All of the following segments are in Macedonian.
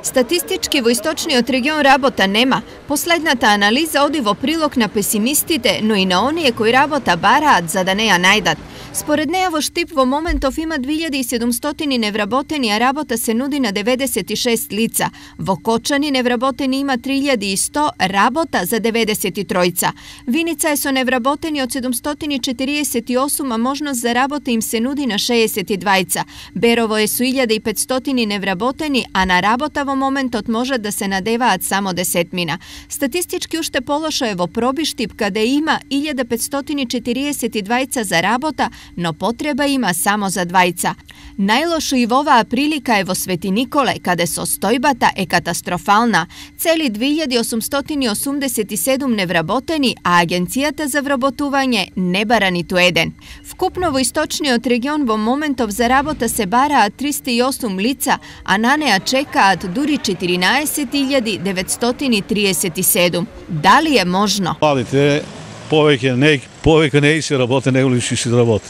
Статистички во источниот регион работа нема. Последната анализа оди во прилог на песимистите, но и на оние кои работа бараат за да не ја најдат. Според неја во Штип во моментов има 2700 невработени, а работа се нуди на 96 лица. Во Кочани невработени има 3100, работа за 93. Виница е со невработени од 748, а можност за работа им се нуди на 62. Берово е со 1500 невработени, а на работа во моментот можат да се надеваат само 10. Статистички уште полошо е во Пробиштип, каде има 1542 за работа, но потреба има само за 2. Најлошо и во оваа прилика е во Свети Николе, каде состојбата е катастрофална. Цели 2887 невработени, а Агенцијата за вработување не бара ниту еден. Вкупно во источниот регион во моментов за работа се бараат 308 лица, а на неа чекаат дури 14937. Дали е можно? Младите повеќе не се работе, него ли ще се работи.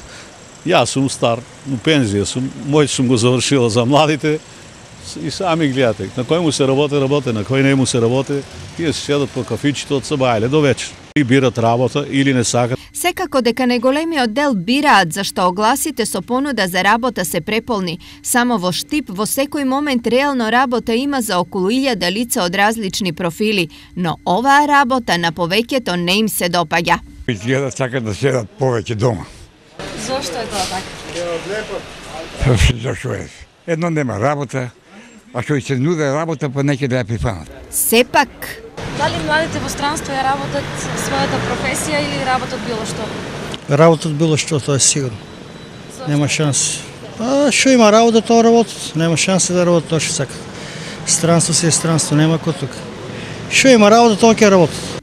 Јас сум стар, у пензија сум, мој сум го завршила за младите и сами гледате. На кој му се работи, на кој не му се работи, тие се седат по кафичето од сабајле до вечер. И бират работа или не сакат. Секако дека најголемиот дел бираат, зашто огласите со понуда за работа се преполни. Само во Штип во секој момент реално работа има за околу 1000 лица од различни профили, но оваа работа на повеќето не им се допаѓа. Изгледа сакат да седат повеќе дома. Зошто е тоа така? Зашо е? Едно нема работа, а што и се нуде работа, па неќе да ја прифанат. Сепак, Дали младите во странство ја работат својата професија или работат било што? Работат било што, тоа е сигурно. Нема шанс. Што има работа, тоа работат. Нема шанс да работат тоа што сакат. Странство си е странство, нема кој тука. Што има работа, тоа ќе работат.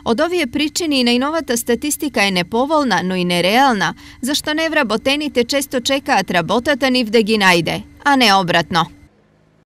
од овие причини и најновата статистика е неповолна, но и нереална, зашто невработените често чекаат работата нив да ги најде, а не обратно.